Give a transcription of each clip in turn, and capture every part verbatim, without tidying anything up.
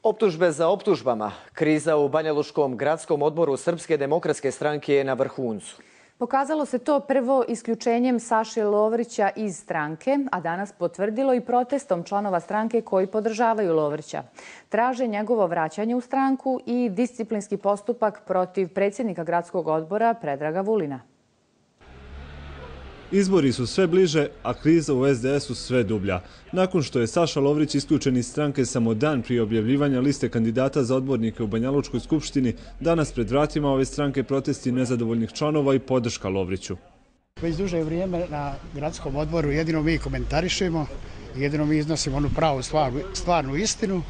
Optužbe za optužbama. Kriza u Banjalučkom gradskom odboru Srpske demokratske stranke je na vrhuncu. Pokazalo se to prvo isključenjem Saše Lovrića iz stranke, a danas potvrdilo i protestom članova stranke koji podržavaju Lovrića. Traže njegovo vraćanje u stranku i disciplinski postupak protiv predsjednika gradskog odbora Predraga Vulina. Izbori su sve bliže, a kriza u es de esu sve dublja. Nakon što je Saša Lovrić isključen iz stranke samo dan prije objavljivanja liste kandidata za odbornike u Banjalučkoj skupštini, danas pred vratima ove stranke protesti nezadovoljnih članova i podrška Lovriću. Već duže vrijeme na gradskom odboru jedino mi komentarišemo, jedino mi iznosimo onu pravu stvarnu, stvarnu istinu,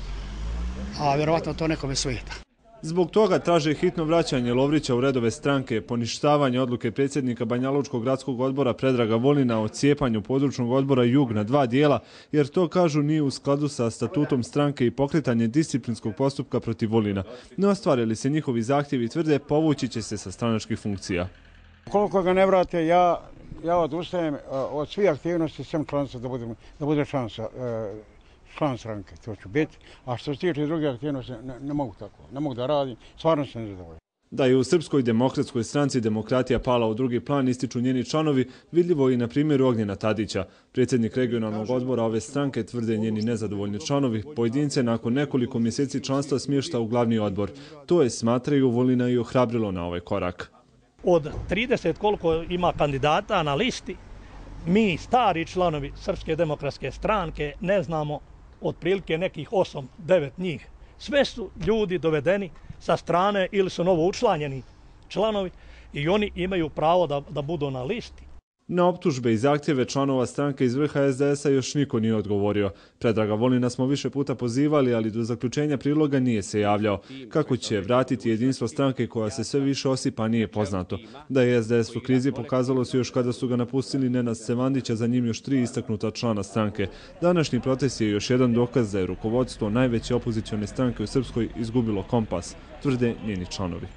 a vjerovatno to nekome svijeta. Zbog toga traže hitno vraćanje Lovrića u redove stranke, poništavanje odluke predsjednika Banjalučkog gradskog odbora Predraga Vulina o cijepanju područnog odbora Jug na dva dijela, jer to, kažu, nije u skladu sa statutom stranke i pokretanje disciplinskog postupka protiv Vulina. Ne ostvarili se njihovi zahtjevi, tvrde, povući će se sa stranačkih funkcija. Koliko ga ne vrate, ja, ja odustajem od svih aktivnosti, sem članstva da, budem, da bude šansa. Član stranke, to ću biti, a što se tiče drugih aktivnosti, ne, ne mogu tako, ne mogu da radim, stvarno sam nezadovoljan. Da je u Srpskoj demokratskoj stranci demokratija pala u drugi plan, ističu njeni članovi, vidljivo i na primjeru Ognjena Tadića. Predsjednik regionalnog odbora ove stranke, tvrde njeni nezadovoljni članovi, pojedince nakon nekoliko mjeseci članstva smješta u glavni odbor. To je, smatraju, Vulina i ohrabrilo na ovaj korak. Od trideset koliko ima kandidata na listi, mi, stari članovi Srpske demokratske stranke, ne znamo otprilike nekih osam devet njih. Sve su ljudi dovedeni sa strane ili su novo učlanjeni članovi i oni imaju pravo da, da budu na listi. Na optužbe i zahtjeve članova stranke iz vrha es de esa još niko nije odgovorio. Predraga Vulina smo više puta pozivali, ali do zaključenja priloga nije se javljao. Kako će vratiti jedinstvo stranke koja se sve više osipa nije poznato. Da je es de es u krizi pokazalo se još kada su ga napustili Nenad Stevandić, a za njim još tri istaknuta člana stranke. Današnji protest je još jedan dokaz da je rukovodstvo najveće opozicione stranke u Srpskoj izgubilo kompas, tvrde njeni članovi.